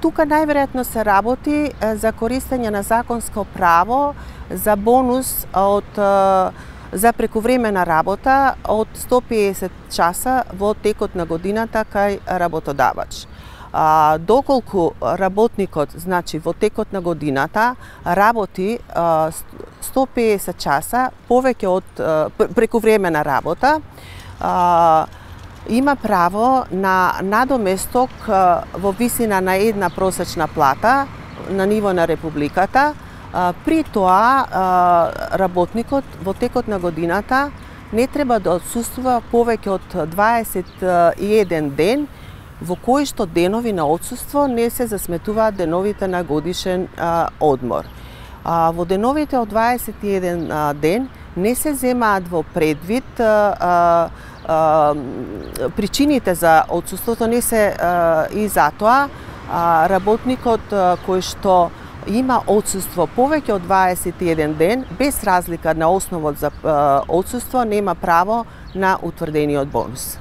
Тука најверојатно се работи за користење на законско право за бонус за прековремена работа од 150 часа во текот на годината кај работодавач. Доколку работникот, значи во текот на годината, работи 150 часа повеќе од прековремена работа, има право на надоместок во висина на една просечна плата на ниво на Републиката. При тоа работникот во текот на годината не треба да отсуствува повеќе од 21 ден, во кои што денови на отсуство не се засметуваат деновите на годишен одмор. Во деновите од 21 ден не се земаат во предвид причините за отсуството, не се и затоа работникот кој што има отсуство повеќе од 21 ден, без разлика на основот за отсуство, нема право на утврдениот бонус.